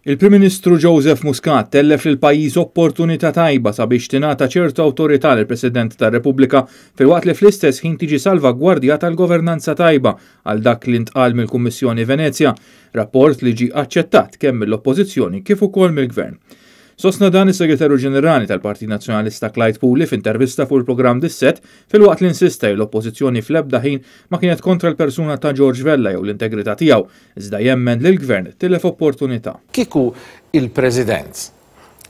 Il-Prim Ministru Joseph Muscat tellef lill-pajjiż opportunità tajba sabiex tingħata ċertu awtorità lill-President tar-Repubblika filwaqt li fl-istess ħin tiġi salvagwardjata l-governanza tajba għal dak li ntqal mill-Kummissjoni Venezja, rapport li ġie aċċettat kemm mill-Oppożizzjoni kif ukoll mill-Gvern. Sostna dan is-Segretarju Ġenerali tal-Partit Nazzjonalista Clyde Puli f'intervista fuq il-programm Dissett filwaqt li insista li l-Oppożizzjoni fl-ebda ħin ma kienet kontra l-persuna ta' George Vella jew l-integrità tiegħu, iżda jemmen li l-Gvern tilef opportunità. Kieku il-President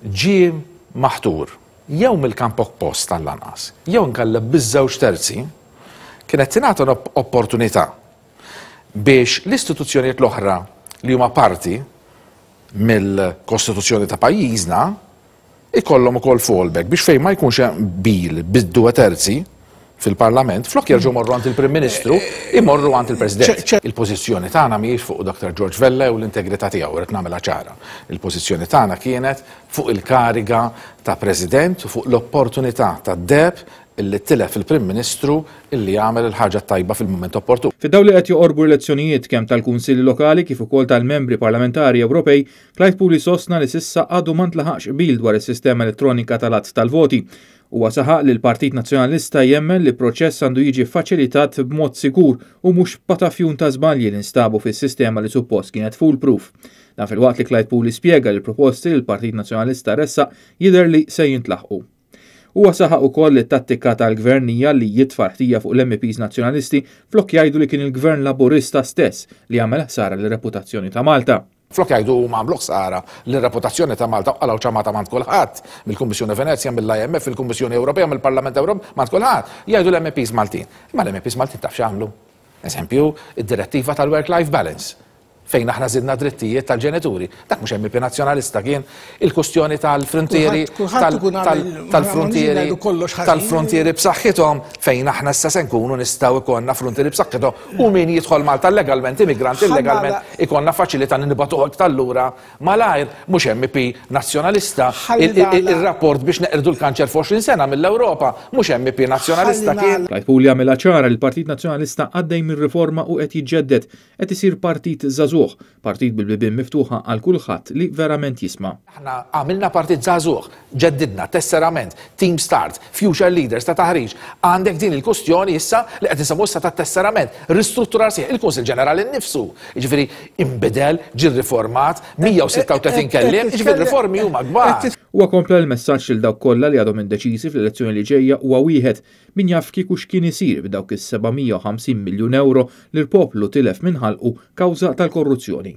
ġie maħtur jew mill-kamp oppost għall-anqas, jew inkella biż-żewġ terzi, kienet tingħata opportunità biex l-istituzzjonijiet l-oħra li huma parti mill-Kostituzzjoni ta' pajjiżna ikollhom ukoll fallback biex fejn ma jkunx hemm qbil bid-due terzi fil-Parlament, flok jerġgħu morru għand il-Prim Ministru, imorru għand il-President. Il-pożizzjoni tagħna mhijiex fuq Dr. George Vella u l-integrità tiegħu, rrid nagħmilha ċara. Il-pożizzjoni tagħna kienet fuq il-kariga ta' President u fuq l-opportunità tad-deheb illi tilef il-Prim Ministru illi għamel il-ħaġa t-tajba fil-mument opportun. Fid-dawl li qed joqorbu l-elezzjonijiet kemm tal-Kunsilli Lokali kif ukoll tal-Membri Parlamentari Ewropej, Clyde Puli sostna li s'issa għadu ma ntlaħaqx qbil dwar is-sistema elettronika tal-għadd tal-voti. Huwa saħaq li l-Partit Nazzjonalista jemmen li proċess għandu jiġi ffaċilitat b'mod sigur u mhux b'patafjun ta' żbalji li nstabu fis-sistema li suppost kienet foolproof. Dan filwaqt li Clyde Puli spjega li l-proposti li l-Partit Nazzjonalista ressaq jidher li se jintlaħqu. Huwa saħaq ukoll li t-tattika tal-Gvern hija li jitfa' l-ħtija fuq l-MEPs Nazzjonalisti flok jgħidu li kien il-Gvern Laburista stess li għamel ħsara lir-reputazzjoni ta' Malta. Flok jgħidu huma għamlu ħsara lir-reputazzjoni ta' Malta u qalgħu ċamata m'għand kulħadd, mill-Kummissjoni Venezja, mill-IMF, mill-Kummissjoni Ewropea, mill-Parlament Ewropew, m'għand kulħadd, jgħidu l-MEPs Maltin. Imma l-MEPs Maltin taf x'għamlu? Eżempju, id-direttiva tal-work-life balance. fejn aħna żidna drittijiet tal-ġenituri. Dak mhux MEP Nazzjonalista kien il-kustjoni tal-frontieri tal-frontieri tal-frontieri b'saħħithom fejn aħna issa se nkunu nistgħu ikollna frontieri b'saħħithom u min jidħol Malta legalment immigrant illegalment ikollna faċilità nibgħatuh iktar lura malajr mhux MEP Nazzjonalista ir-rapport biex neqirdu l-kanċer f'20 sena mill-Ewropa mhux MEP Nazzjonalista kien. Clyde Puli għamilha ċara li l-Partit Nazzjonalista għaddej minn riforma u qed jiġġedded Qed isir partit żagħżugħ, partit bil-bibien miftuħa għal kulħadd li verament jisma'. Aħna għamilna partit żagħżugħ, ġeddidna, tesserament, team start, future leaders ta' taħriġ. Għandek din il-kustjoni issa li qed insemmu issa tat-tesserament, ristrutturar sħiħ, il-Kunsill Ġenerali nnifsu, jiġifieri inbidel, ġie rriformat, 136 kelliem, jiġifieri r-riformi huma kbar. Huwa kompla li l-messaġġ lil dawk kollha li għadhom indeċiżi fl-elezzjoni li ġejja huwa wieħed, Min jaf kieku x'kien isir b'dawk is-750 miljun ewro li l-poplu tilef minn ħalqu kawża tal-korruzzjoni.